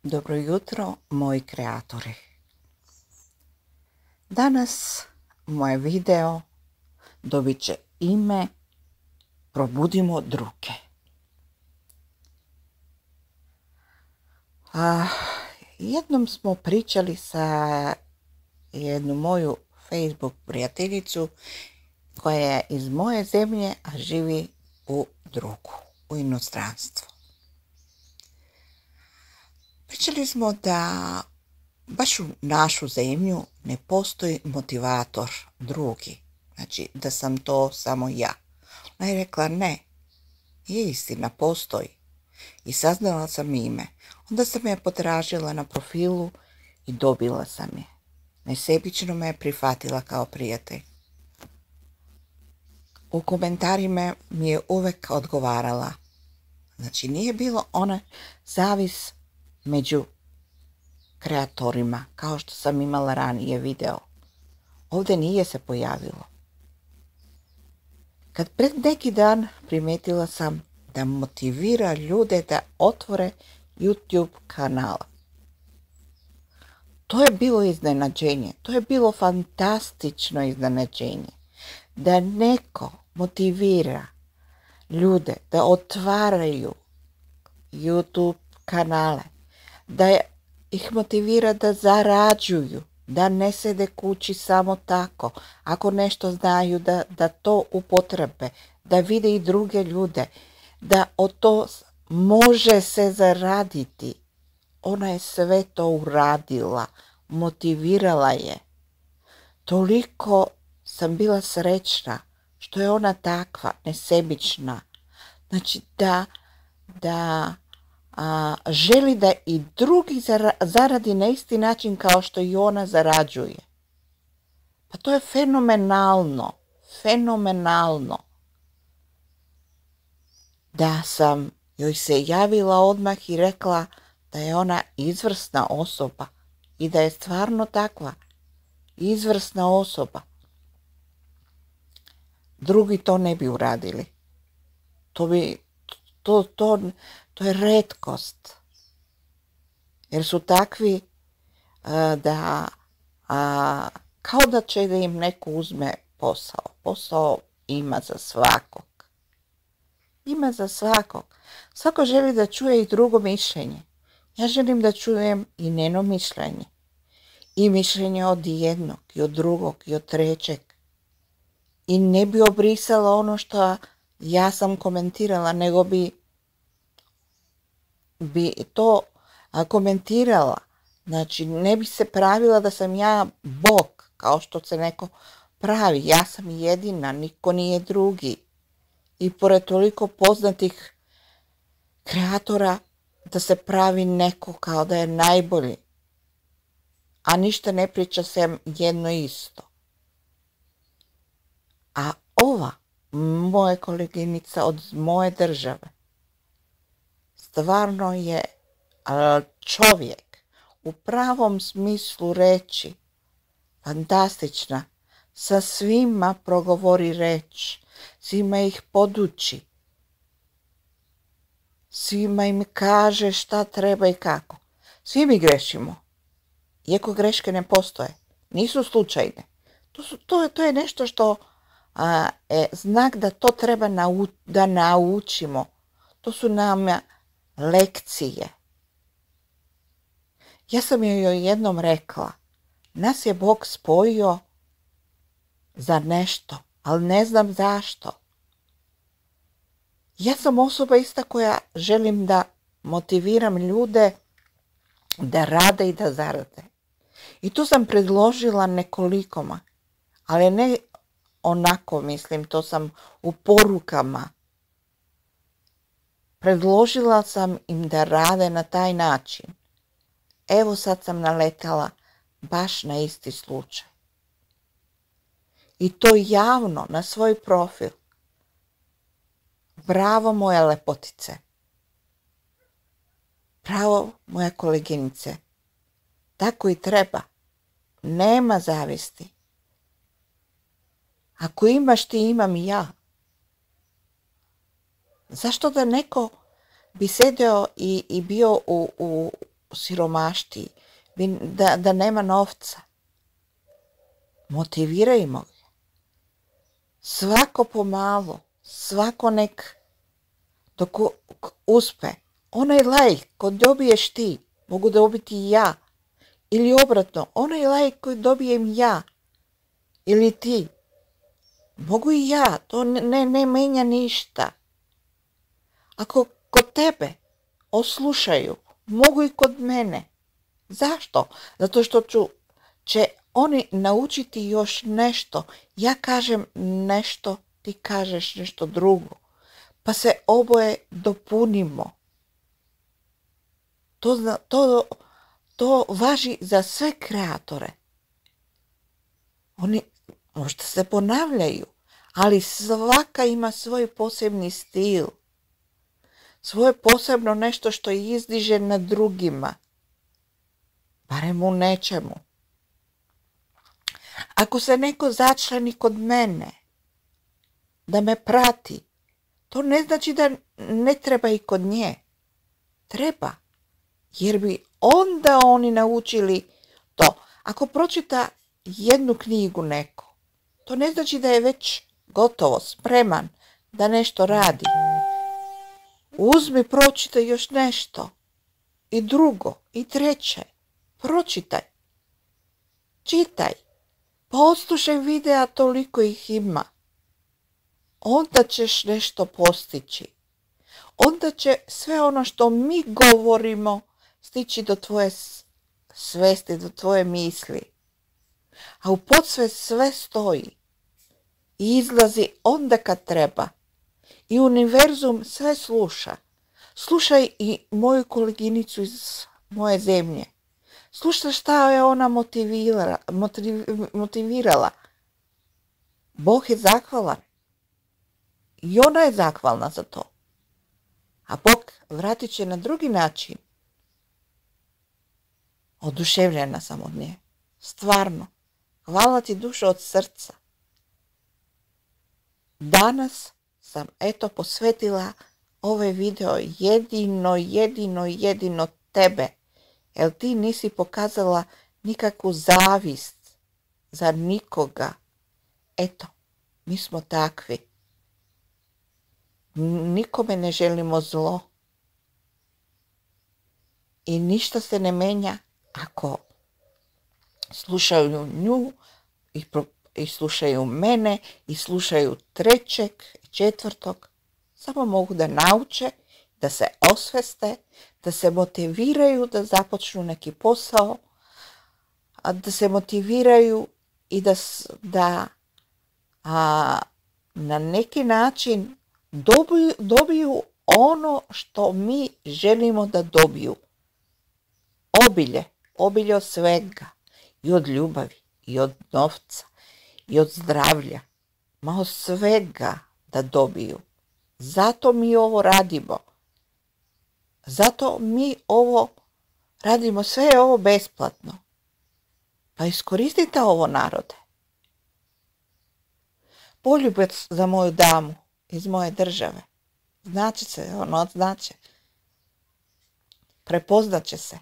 Dobro jutro, moji kreatori. Danas moje video dobit će ime Probudimo druge. Jednom smo pričali sa jednu moju Facebook prijateljicu koja je iz moje zemlje, a živi u inostranstvu. Pričali smo da baš u našu zemlju ne postoji motivator drugi, znači da sam to samo ja. Ona je rekla ne, je istina, postoji. I saznala sam ime. Onda sam je potražila na profilu i dobila sam je. Nesebično me je prihvatila kao prijatelj. U komentarima mi je uvek odgovarala. Znači nije bilo ona zavis među kreatorima, kao što sam imala ranije video. Ovdje nije se pojavilo. Kad pred neki dan primetila sam da motivira ljude da otvore YouTube kanala. To je bilo iznenađenje, to je bilo fantastično iznenađenje. Da neko motivira ljude da otvaraju YouTube kanale, da ih motivira da zarađuju, da ne sede kući samo tako, ako nešto znaju da to upotrebe, da vide i druge ljude, da od to može se zaraditi. Ona je sve to uradila, motivirala je. Toliko sam bila srećna što je ona takva, nesebična. Znači da želi da i drugi zaradi na isti način kao što i ona zarađuje. Pa to je fenomenalno, fenomenalno. Da sam joj se javila odmah i rekla da je ona izvrsna osoba i da je stvarno takva, izvrsna osoba. Drugi to ne bi uradili. To je retkost. Jer su takvi da kao da će da im neko uzme posao. Posao ima za svakog. Ima za svakog. Svako želi da čuje i drugo mišljenje. Ja želim da čujem i njeno mišljenje. I mišljenje od jednog, i od drugog, i od trećeg. I ne bi obrisala ono što ja sam komentirala, nego bi to komentirala. Znači, ne bi se pravila da sam ja Bog, kao što se neko pravi. Ja sam jedina, niko nije drugi. I pored toliko poznatih kreatora, da se pravi neko kao da je najbolji. A ništa ne priča sem jedno isto. A ova moja koleginica od moje države stvarno je čovjek u pravom smislu reči, fantastična, sa svima progovori reč, svima ih poduči, svima im kaže šta treba i kako. Svi mi grešimo, iako greške ne postoje, nisu slučajne. To je nešto što je znak da to treba da naučimo. To su nam lekcije. Ja sam joj jednom rekla, nas je Bog spojio za nešto, ali ne znam zašto. Ja sam osoba ista koja želim da motiviram ljude da rade i da zarade. I tu sam predložila nekolikoma, ali ne onako, mislim, to sam u porukama. Predložila sam im da rade na taj način. Evo sad sam naletala baš na isti slučaj. I to javno na svoj profil. Bravo moje lepotice. Bravo moje koleginice. Tako i treba. Nema zavisti. Ako imaš ti, imam i ja. Zašto da neko bi sedeo i bio siromaštiji, da nema novca. Motivirajmo ga. Svako pomalo, svako nek dok uspe. Onaj like koji dobiješ ti, mogu dobiti i ja. Ili obratno, onaj like koji dobijem ja ili ti, mogu i ja, to ne menja ništa. Ako kod tebe oslušaju, mogu i kod mene. Zašto? Zato što će oni naučiti još nešto. Ja kažem nešto, ti kažeš nešto drugo. Pa se oboje dopunimo. To važi za sve kreatore. Oni možda se ponavljaju, ali svaka ima svoj posebni stil. Svoje posebno nešto što izdiže na drugima. Barem u nečemu. Ako se neko začlani kod mene, da me prati, to ne znači da ne treba i kod nje. Treba. Jer bi onda oni naučili to. Ako pročita jednu knjigu neko, to ne znači da je već gotovo, spreman da nešto radi. Uzmi, pročitaj još nešto. I drugo, i treće. Pročitaj. Čitaj. Poslušaj videa, toliko ih ima. Onda ćeš nešto postići. Onda će sve ono što mi govorimo stići do tvoje svesti, do tvoje misli. A u podsvest sve stoji i izlazi onda kad treba. I univerzum sve sluša. Slušaj i moju koleginicu iz moje zemlje. Slušaj šta je ona motivirala. Bog je zahvalan. I ona je zahvalna za to. A Bog vratit će na drugi način. Oduševljena sam od nje. Stvarno. Hvala ti dušo od srca. Danas sam posvetila ovaj video jedino tebe. Jer ti nisi pokazala nikakvu zavist za nikoga. Mi smo takvi. Nikome ne želimo zlo. I ništa se ne menja ako slušaju nju i slušaju mene i slušaju trećeg i četvrtog. Samo mogu da nauče, da se osveste, da se motiviraju da započnu neki posao, da se motiviraju i da na neki način dobiju ono što mi želimo da dobiju. Obilje od svega, i od ljubavi, i od novca, i od zdravlja, od svega da dobiju. Zato mi ovo radimo. Zato mi ovo radimo, sve je ovo besplatno. Pa iskoristite ovo, narode. Poljubac za moju damu iz moje države. Znači se, znači. Prepoznat će se.